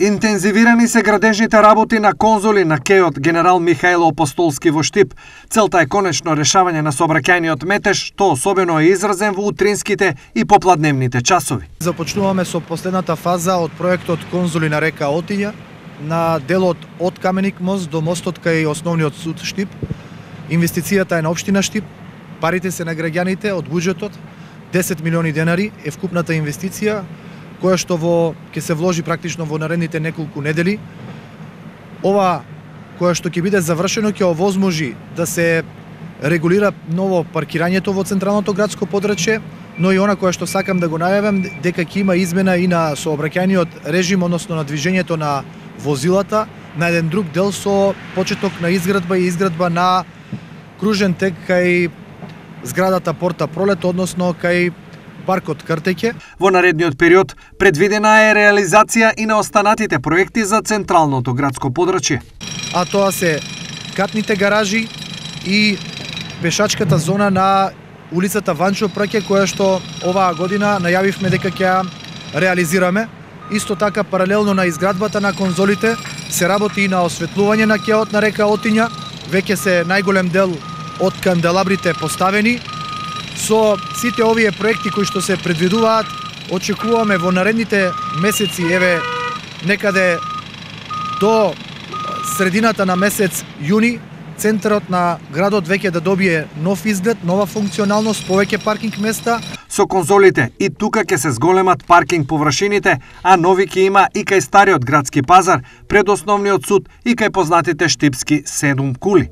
Интензивирани се градежните работи на конзоли на кејот Генерал Михајло Апостолски во Штип. Целта е конечно решавање на сообраќајниот метеж, што особено е изразен во утринските и попладневните часови. Започнуваме со последната фаза од проектот конзоли на река Отиња, на делот од Каменик мост до мостот кај основниот суд Штип. Инвестицијата е на општина Штип, парите се на граѓаните од буџетот, 10 милиони денари е вкупната инвестиција, која што ќе се вложи практично во наредните неколку недели. Ова која што ќе биде завршено ќе овозможи да се регулира ново паркирањето во централното градско подрачје, но и она која што сакам да го најавам дека ќе има измена и на сообраќајниот режим, односно на движењето на возилата, на еден друг дел со почеток на изградба на кружен тек кај зградата Порта Пролет, односно кај паркот Картеќе. Во наредниот период предвидена е реализација и на останатите проекти за централното градско подрачје. А тоа се катните гаражи и пешачката зона на улицата Ванчо Праќе, која што оваа година најавивме дека ќе ја реализираме. Исто така, паралелно на изградбата на конзолите, се работи и на осветлување на кеот на река Отиња. Веќе се најголем дел од канделабрите поставени. Со сите овие проекти кои што се предвидуваат, очекуваме во наредните месеци, некаде до средината на месец јуни, центарот на градот веќе да добие нов изглед, нова функционалност, повеќе паркинг места. Со конзолите и тука ќе се зголемат паркинг површините, а нови ќе има и кај стариот градски пазар, пред основниот суд и кај познатите штипски 7 кули.